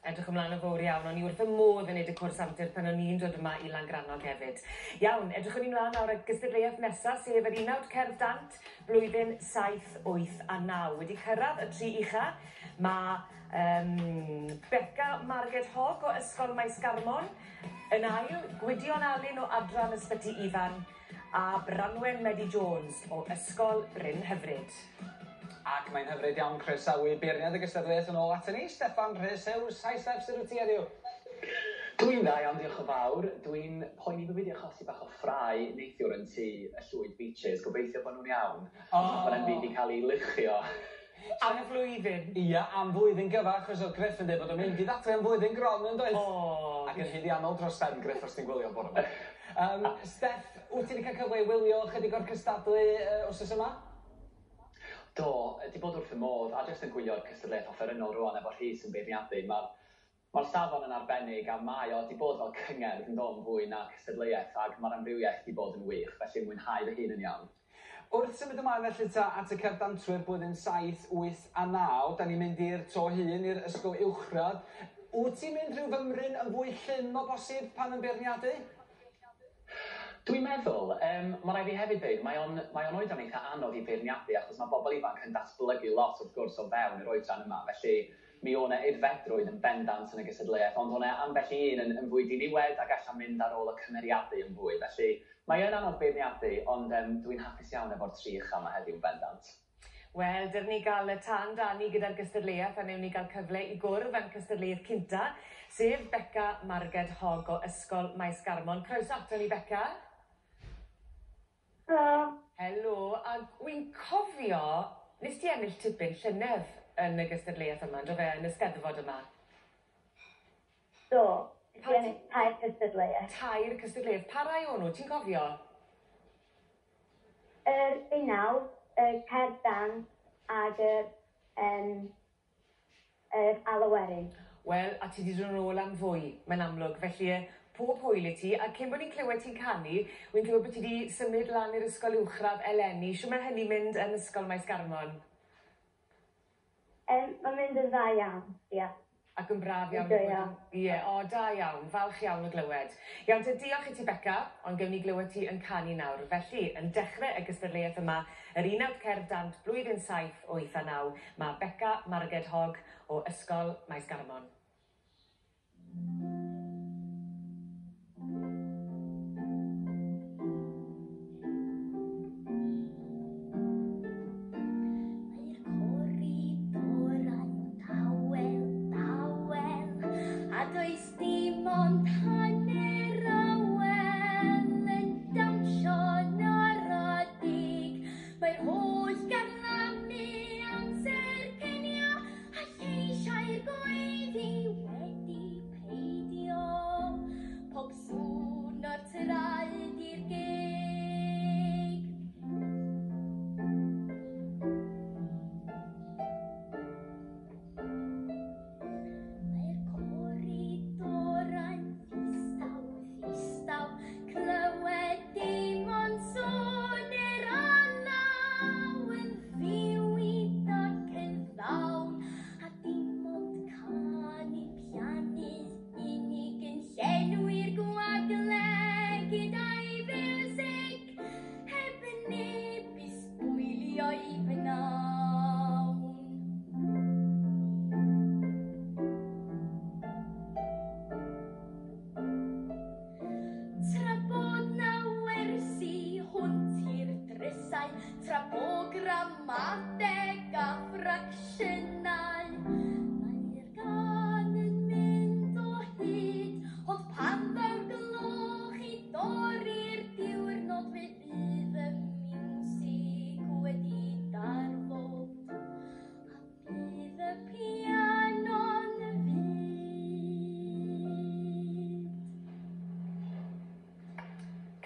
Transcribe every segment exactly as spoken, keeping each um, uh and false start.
Edrych ymlaen yn fawr iawn, o'n i wrth y modd yn neud y cwrs antur pan o'n i'n dod yma i Langrannog hefyd. Iawn, edrychwn ni mlaen nawr at gystadleuaeth nesaf, sef yr unawd cerdd dant, blwyddyn saith, wyth a naw. Wedi cyrraedd y tri ucha, mae um, Beca Marged Hogg o Ysgol Maes Garmon, yn ail, Gwydion Alun o Adran Ysbyty Ifan, a Branwen Medi Jones o Ysgol Bryn Hyfryd. Ac mae'n hyfryd iawn croesawu beirniad y gystadleuaeth yn ôl aton ni, Steffan Rhys Hughes. Hi Steff, sut wyt ti heddiw? Dwi'n dda iawn, diolch yn fawr. Dwi'n poeni bod fi wedi achosi bach o ffrae neithiwr yn tŷ y Llwyd Beaches. Gobeithio bod nhw'n iawn. Oh. Bod e'n byd i cael ei luchio. Am flwyddyn. Ia, am flwyddyn gyfa, achos oedd Griff yn dweud bod o'n mynd i ddathlu am flwyddyn gron yn doedd? O. Ac yn haeddiannol dros ben, Griff, os ti'n gwylio bore yma. Um, Steff, wyt ti wedi cael cyfle i wylio chydig o'r cystadlu uh, wythnos yma? Do, di bod wrth y modd, a jyst yn gwylio'r cystadleuaeth offerynnol rwan efo Rhys yn beirniadu. Mae'r ma safon yn arbennig a mae o di bod fel cyngerdd yn dod yn fwy na cystadleuaeth, ac mae'r amrywiaeth di bod yn wych, felly mwynhau fy hun yn iawn. Wrth symud ymlaen felly ta at y cerddantwyr blwyddyn saith, wyth a naw, da ni'n mynd i'r to hyn, i'r ysgol uwchradd. Wyt ti'n mynd rhyw fymryn yn fwy llym o bosib pan yn beirniadu? Dwi'n meddwl, um, mae rhaid fi hefyd dweud, mae o'n, mae o'n oedran eitha anodd i feirniadu achos mae bobl ifanc yn datblygu lot wrth gwrs o fewn yr oedran yma, felly mi o'n e aeddfedrwydd yn bendant yn y gystadleuaeth, ond o'n e ambell i un yn, yn fwy diniwed ac allan mynd ar ôl y cymeriadu yn fwy, felly mae yn anodd beirniadu, ond um, dwi'n hapus iawn efo'r tri ucha yma heddiw yn bendant. Wel, dyn ni gael y tân dani gyda'r gystadleuaeth a newn ni gael cyfle i gwrdd â'n cystadleuaeth cynta, sef Beca Marged Hogg o Ysgol Maes Garmon. Croeso ato ni, Beca. Helo. Helo, a wy'n cofio, nes ti ennill tipyn llynedd yn y gystadleuaeth yma, ynddo fe, yn y Steddfod yma? Do, nes i ennill tair cystadleuaeth. Tair cystadleuaeth. Pa rai o'n nhw, ti'n cofio? Yr unawd, y cerdd dant ag yr, um, yr alaw werin. Wel, a ti wedi dod yn ôl am fwy, mae'n amlwg, felly pob hwyl i ti, a cyn bod ni'n clywed ti'n canu, wy'n clywed bod ti wedi symud lan i'r ysgol uwchradd eleni. Shwt mae hynny'n mynd yn Ysgol Maes Garmon? Um, mae'n mynd yn dda iawn, ie. Yeah. Ac yn braf iawn. Ie, o, da iawn, falch iawn o glywed. Iawn, te diolch i ti, Beca, ond gewn ni glywed ti yn canu nawr. Felly, yn dechrau y gystadleuaeth yma, yr unawd cerdd dant blwyddyn saith, wyth a naw, mae Beca Marged Hogg o Ysgol Maes Garmon.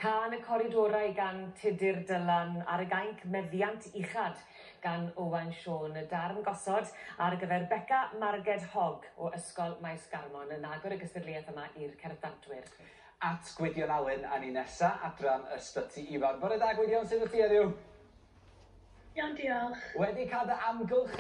Cân y Coridorau gan Tudur Dylan ar y gainc Meddiant Uchad gan Owain Siôn, y darn gosod ar gyfer Beca Marged Hogg o Ysgol Maes Garmon yn agor y gystadleuaeth yma i'r cerddantwyr. At Gwydion Alun a ni nesa, adran Ysbyty Ifan. Bore da Gwydion, sut wyt ti heddiw? Iawn, diolch. Wedi cael dy amgylch